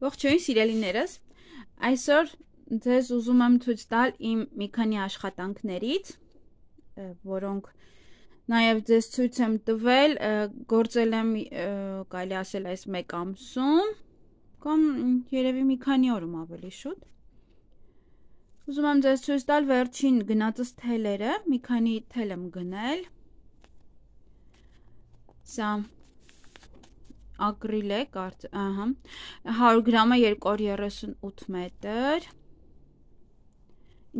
Ողջույն սիրելիներս, այսօր ձեզ ուզում եմ ցույց տալ իմ մի քանի աշխատանքներից, որոնք նաև ձեզ ցույց եմ տվել, գործել եմ, կարելի ասել այս մեկ ամսում, կամ երևի մի քանի օրում ավելի շուտ։ Ուզում եմ ձեզ ցույց տալ վերջին գնածս թելերը, մի քանի թել եմ գնել։ Սա ակրիլ է, 100 գրամը 238 մետր,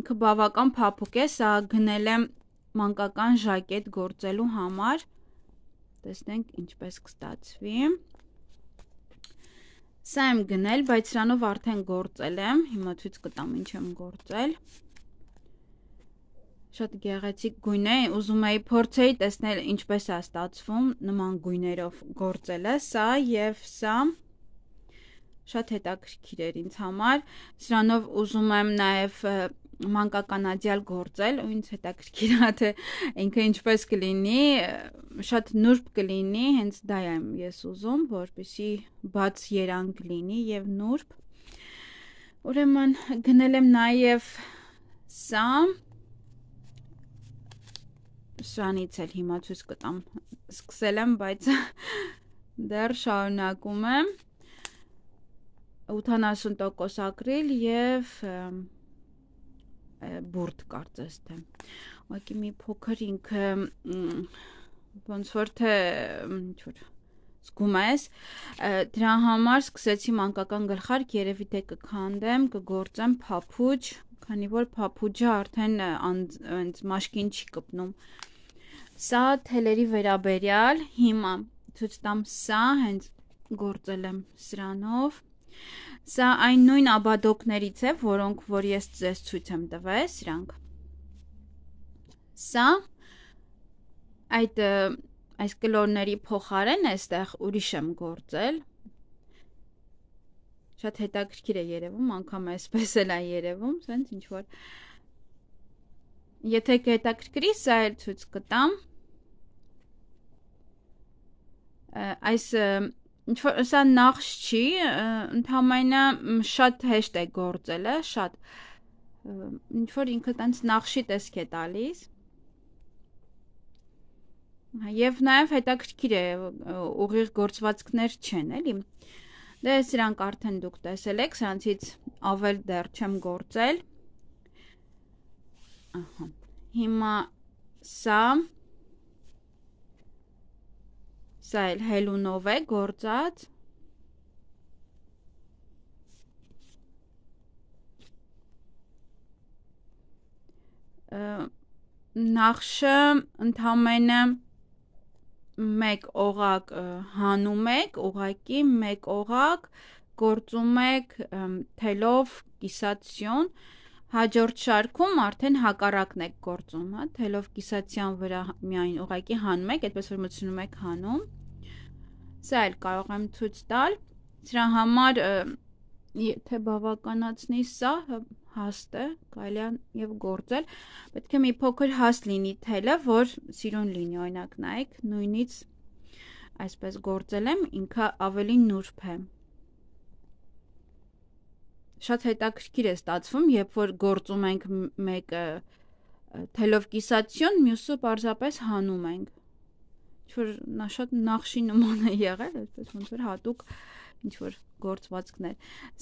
ինքը բավական փափուկ է, սա գնել եմ մանկական ժակետ գործելու համար, տեսնենք ինչպես կստացվի, սա եմ գնել, բայց սրանով արդեն գործել եմ, հիմա ցույց կտամ ինչ եմ գործել, շատ գեղեցիկ գույն է, ուզում էի փորձեի տեսնել ինչպես է ստացվում նման գույներով գործելը, սա եւ սա շատ հետաքրքիր էր ինձ համար, սրանով ուզում եմ նաեւ մանկականադյալ գործել, ու ինձ հետաքրքիր է թե ինքը ինչպես կլինի, շատ նուրբ կլինի, հենց դա եմ ես ուզում, որպեսզի բաց երանգ լինի եւ նուրբ, ուրեմն գնել եմ նաեւ սա Սրանից էլ հիմա ցույց կտամ, սկսել եմ, բայց դեռ շարունակում եմ 80% ակրիլ եւ բուրդ կարծես թե ուղղակի մի փոքր ինքը ոնց որ թե ինչ-որ զգում ես դրա համար սկսեցի մանկական գլխարկ երևի թե կքանդեմ, կգործեմ փափուջ, քանի որ փափուջը արդեն հենց մաշկին չի կպնում Սա թելերի վերաբերյալ, հիմա ցույց տամ սա, հենց գործել եմ սրանով, սա այն նույն աբադոկներից է, որոնք որ ես ձեզ ցույց եմ տվել, սրանք, սա, այս կլորների փոխարեն այստեղ ուրիշ եմ գործել, շատ հետաքրքիր է երևում, անգամ այսպես էլ է երևում, սենց ինչ-որ, Եթե կհետաքրքրի, սա էլ ցույց կտամ, սա նախշ չի, ընդամենը շատ հեշտ է գործելը, շատ, ինչ-որ ինքը տենց նախշի տեսք է տալիս, և նաև հետաքրքիր է, ուղիղ գործվածքներ չեն, էլի, դե սրանք արդեն դուք տեսել եք, սրանցից ավել դեռ չեմ գործել, Հիմա սա էլ հելունով է գործած, նախշը ընդամենը մեկ օղակ հանում եք, ուղղակի մեկ օղակ գործում եք թելով կիսացիոն, Հաջորդ շարքում արդեն հակառակն եք գործում, թելով կիսացիան վրա միայն ուղղակի հանում եք, այդպես որ մտցնում եք հանում, սա էլ կարող եմ ցույց տալ, սրա համար եթե բավականացնի սա հաստ է, կարելի է եւ գործել, պետք է մի փոքր հաստ լինի թելը, որ սիրուն լինի, օրինակ նայեք, նույնից այսպես գործել եմ, ինքը ավելի նուրբ է Շատ հետաքրքիր է ստացվում, երբ որ գործում ենք մեկը թելով կիսացիոն, մյուսը պարզապես հանում ենք, ինչ-որ շատ նախշի նման է եղել, այսպես ոնց որ հատուկ ինչ-որ գործվածքներ,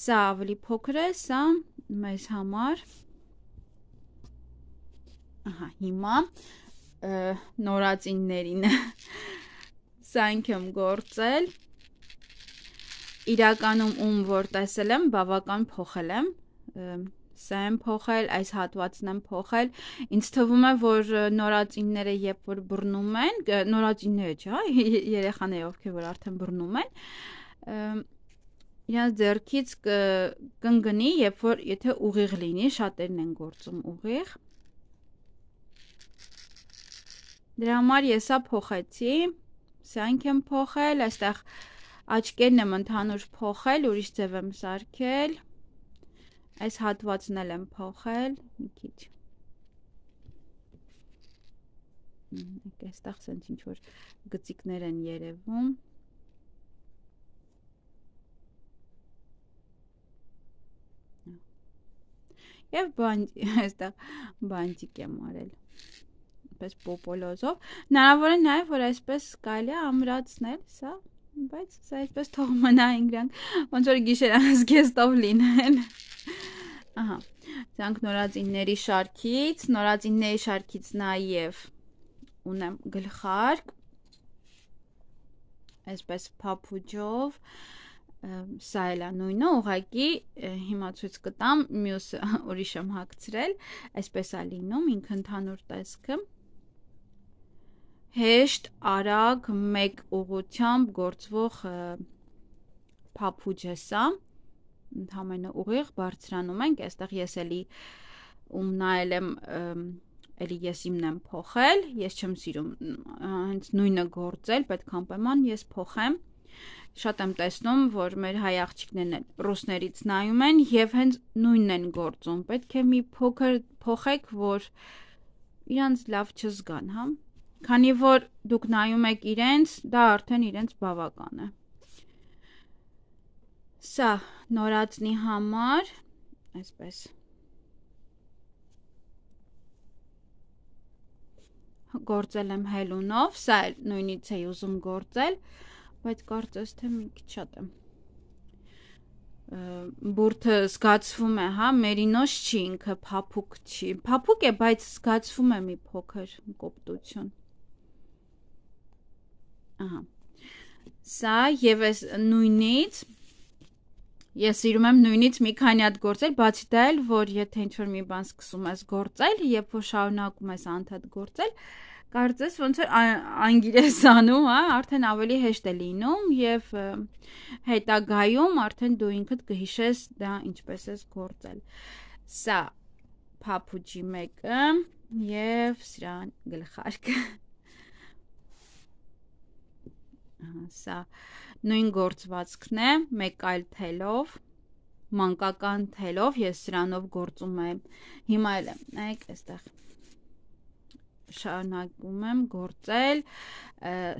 սա ավելի փոքր է, սա մեզ համար, հիմա նորածիններին, սա ինք եմ գործել, Իրականում ում որ տեսել եմ, բավական փոխել եմ, սա եմ փոխել, այս հատվածն եմ փոխել, ինձ թվում է, որ նորածինները երբ որ բռնում են, նորածինները չէ, երեխաները ովքեր որ արդեն բռնում են, իրանց ձեռքից կընկնի, երբ որ եթե ուղիղ լինի, շատերն են գործում ուղիղ, դրա համար ես սա փոխեցի, սրանք եմ փոխել, այստեղ Աչկերն եմ ընդհանուր փոխել, ուրիշ ձև եմ սարքել, այս հատվածն էլ եմ փոխել, մի քիչ, այստեղ սենց ինչ-որ գծիկներ են երևում, Եվ այստեղ բանջիկ եմ արել պես պոպոլոզով, հնարավոր է նաև, որ այսպես կարելի է ամրացնել սա, բայց սա այսպես թող մնա ինքրանք, ոնց որ գիշերանցքեստով լինեն, ահա, դրանք նորածինների շարքից նաև ունեմ գլխարկ, այսպես փափուջով, սա էլ է նույնը, ուղղակի հիմա ցույց կտամ, մյուսը ուրիշ եմ հագցրել, այսպես է լինում, ինքը ընդհանուր տեսքը, հեշտ, արագ, մեկ ուղղությամբ գործվող փափուջ է սա, ընդհանրապես ուղիղ բարձրանում ենք, այստեղ ես էլի նայել եմ, էլի ես իմն եմ փոխել, ես չեմ սիրում հենց նույնը գործել, պետք է անպայման ես փոխեմ, շատ եմ տեսնում, որ մեր հայ աղջիկներն էլ ռուսներից նայում են եւ հենց նույնն են գործում, պետք է մի փոքր փոխեք, որ իրանց լավ չզգան, հա, քանի որ դուք նայում եք իրենց, դա արդեն իրենց բավական է։ Սա նորածնի համար, այսպես գործել եմ հելունով, սա էլ նույնից էի ուզում գործել, բայց կարծես թե մի քիչ շատ եմ։ Բուրդը զգացվում է, հա, մերինոս չի ինքը, փափուկ չի։ Փափուկ է, բայց զգացվում է մի փոքր կոպտություն։ Ահա։ Սա եւ այս նույնից ես սիրում եմ նույնից մի քանի հատ գործել, բացի դա էլ, որ եթե ինչ-որ մի բան սկսում ես գործել, երբ որ շարունակում ես անդադ գործել, կարծես ոնց որ անգիր ես անում, հա, արդեն ավելի հեշտ է լինում եւ հետագայում արդեն դու ինքդ կհիշես դա ինչպես ես գործել։ Սա փափուջի մեկը եւ սրան գլխարկը։ Սա նույն գործվածքն է, մեկ այլ թելով, մանկական թելով, ես սրանով գործում եմ, հիմա էլ եմ, նայեք, այստեղ շարունակում եմ գործել,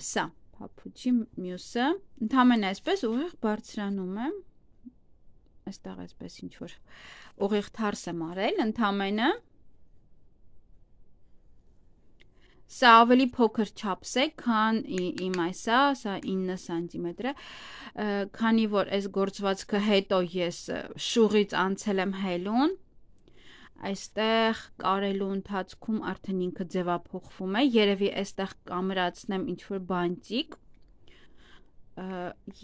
սա փափուջի մյուսը, ընդհանրապես այսպես ուղիղ բարձրանում եմ, այստեղ այսպես ինչ-որ ուղիղ թարս եմ արել, ընդհանրապես Սա ավելի փոքր չափս է, քան իմ այսա, սա 9 սանտիմետր է, քանի որ այս գործվածքը հետո ես շուղից անցել եմ հելուն, այստեղ կարելու ընթացքում արդեն ինքը ձևափոխվում է, երևի այստեղ կամրացնեմ ինչ-որ բանտիկ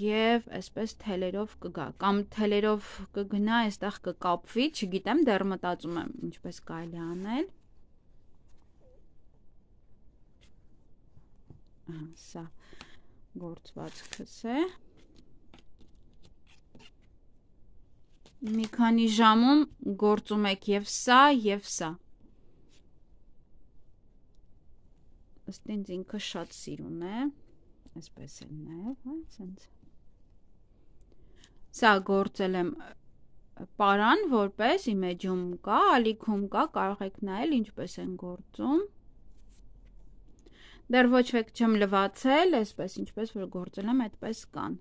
և այսպես թելերով կգա, կամ թելերով կգնա, այստեղ կկապվի, չգիտեմ, դեռ մտածում եմ ինչպես կարելի անել Սա գործվածքս է մի քանի ժամում գործում եք և սա ըստ ինձ ինքը շատ սիրուն է այսպես էլ նաև սա գործել եմ պարան որպես իմեջում կա ալիքում կա կարող եք նայել ինչպես են գործում Դեռ ոչ ոք չեմ լվացել, այսպես ինչպես որ գործել եմ, այդպես կան։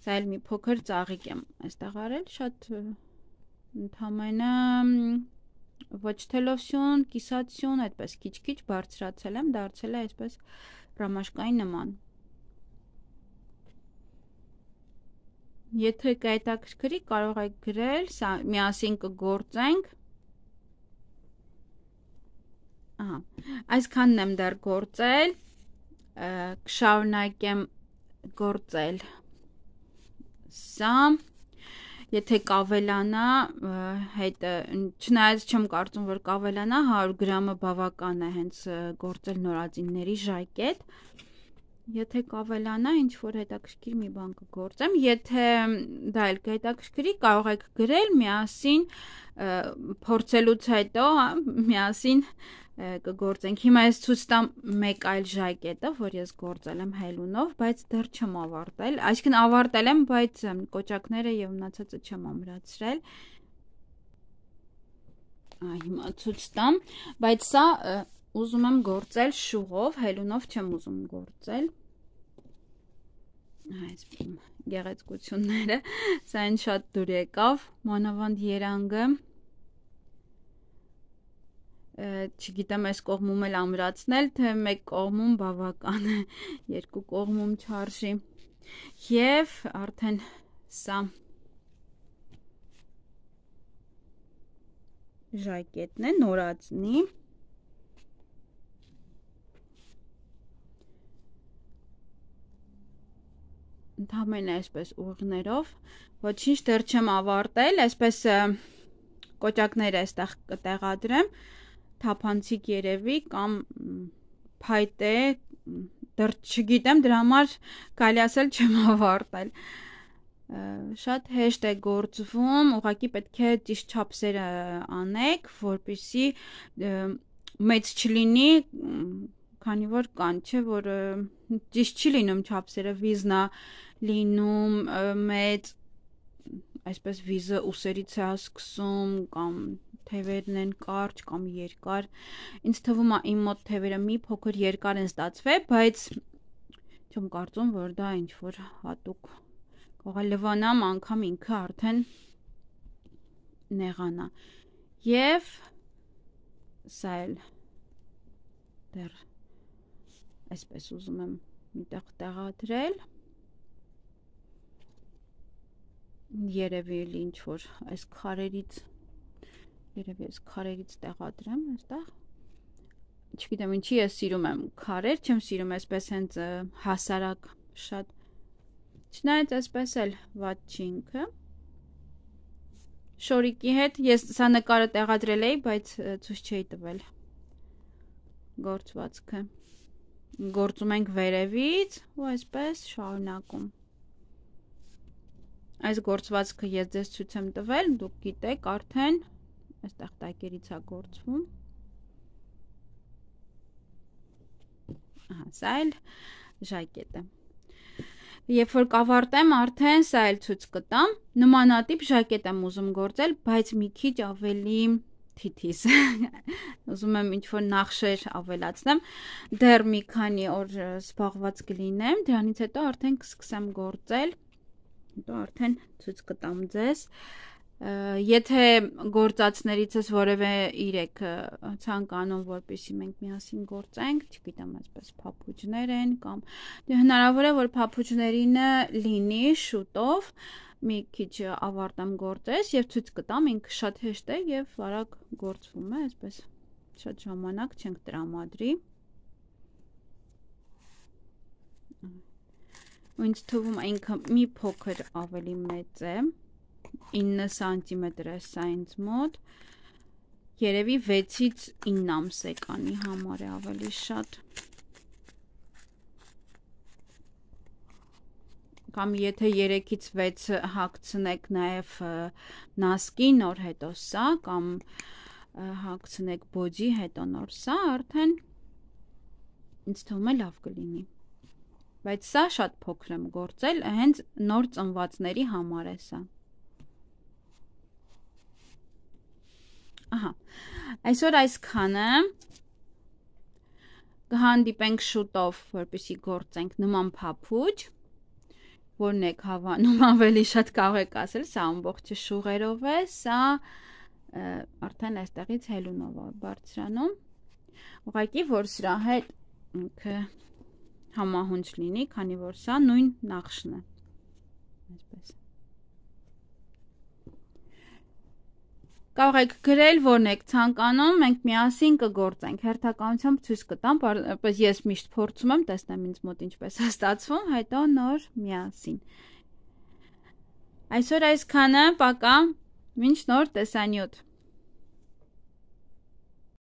Սա էլ մի փոքր ծաղիկ եմ այստեղ արել, շատ ընդհանրապես ոչ թե լոսյուն, կիսացյուն, այդպես քիչ-քիչ բարձրացել եմ, դարձել է այսպես ռամաշկայի նման։ Եթե կհետաքրքրի, կարող եք գրել, սա միասին կգործենք։ Ահա, այսքանն եմ դեռ գործել, կշարունակեմ գործել սա, եթե կավելանա, հետը, չնայած չեմ կարծում, որ կավելանա, 100 գրամը բավական է հենց գործել նորածինների ժակետ, եթե կավելանա, ինչ-որ հետաքրքիր մի բան կգործեմ, եթե դա էլ կհետաքրքրի, կարող եք գրել միասին, փորձելուց հետո, միասին կգործենք, հիմա ես ցույց տամ մեկ այլ ժակետը, որ ես գործել եմ հելունով, բայց դեռ չեմ ավարտել, այսինքն ավարտել եմ, բայց կոճակները և մնացածը չեմ ամրացրել, հիմա ցույց տամ, բայց սա ուզում եմ գործել շուղով, հելունով չեմ ուզում գործել, այս գեղեցկությունները, սա են շատ դուր եկավ, մանավանդ երանգը, չգիտեմ այս կողմում էլ ամրացնել, թե մեկ կողմում բավական է, երկու կողմում չարժի։ Եվ արդեն սա ժակետն է, նորածնի։ Ընդհանրապես այսպես ուղիղներով, ոչինչ դեռ չեմ ավարտել, այսպես կոճակները այստեղ կտեղադրեմ, թափանցիկ երևի կամ փայտե, դեռ չգիտեմ, դրա համար կարելի ասել չեմ ավարտել։ Շատ հեշտ է գործվում, ուղղակի պետք է ճիշտ չափսերը անեք, որպեսզի մեծ չլինի, քանի որ կան, չէ, որ ճիշտ չի լինում չափսերը, վիզնա լինում մեծ, այսպես վիզը ուսերից է սկսում, կամ թևերն են կարճ կամ երկար։ Ինձ թվում է իմ մոտ թևերը մի փոքր երկար են ստացվել, բայց չեմ կարծում, որ դա ինչ-որ հատուկ կողալվանամ, անգամ ինքը արդեն նեղանա։ Եվ սա էլ դեռ այսպես ուզում եմ միտեղ տեղադրել։ Երևի էլ ինչ-որ այս քարերից տեղադրեմ այստեղ։ Չգիտեմ ինչի ես սիրում եմ քարեր, չեմ սիրում այսպես հենց հասարակ շատ։ Չնայած այսպես էլ վատ չի ինքը։ Շորիկի հետ ես սա նկարը տեղադրել էի, բայց ցույց չէի տվել գործվածքը։ Գործում ենք վերևից ու այսպես շարունակում։ Այս գործվածքը ես ձեզ ցույց եմ տվել, դուք գիտեք արդեն, այստեղ տակերից է գործվում։ Ահա, սա էլ ժակետը։ Երբ որ կավարտեմ, արդեն սա էլ ցույց կտամ, նմանատիպ ժակետ եմ ուզում գործել, բայց մի քիչ ավելի թիթիզ։ Ուզում եմ ինչ-որ նախշեր ավելացնեմ, դեռ մի քանի օր զբաղված կլինեմ, դրանից հետո արդեն կսկսեմ գործել, հետո արդեն ցույց կտամ ձեզ։ Եթե գործածներիցս որևէ իրեք ցանկանում, որպեսզի մենք միասին գործենք, չգիտեմ, այսպես փափուջներ են կամ հնարավոր է, որ փափուջներինը լինի շուտով, մի քիչ ավարտեմ գործես եւ ցույց կտամ, ինքը շատ հեշտ է եւ արագ գործվում է, այսպես շատ ժամանակ չենք տրամադրի։ Ինձ թվում է ինքը մի փոքր ավելի մեծ է, 9 սանտիմետր է սա ինձ մոտ, երևի 6-ից 9 ամսեկանի համար է ավելի շատ։ Կամ եթե 3-ից 6 հագցնեք նաև նասկի, նոր հետո սա, կամ հագցնեք բոջի, հետո նոր սա, արդեն ինձ թվում է լավ կլինի։ Բայց սա շատ փոքր եմ գործել, հենց նոր ծնվածների համար է սա։ Ահա, այսօր այսքանը, կհանդիպենք շուտով, որպեսզի գործենք նման փափուջ, որն եք հավանում ավելի շատ կարող եք ասել, սա ամբողջը շուղերով է, սա արդեն այստեղից հելունով է բարձրանում, ուղղակի որ սրա հետ ինքը համահունչ լինի, քանի որ սա նույն նախշն է, այսպես։ Կարող եք գրել, որն եք ցանկանում, մենք միասին կգործենք, հերթականությամբ ցույց կտամ, բայց ես միշտ փորձում եմ, տեսնեմ ինձ մոտ ինչպես է ստացվում, հետո նոր միասին։ Այսօր այսքանը, պակա, մինչ նոր տեսանյութ։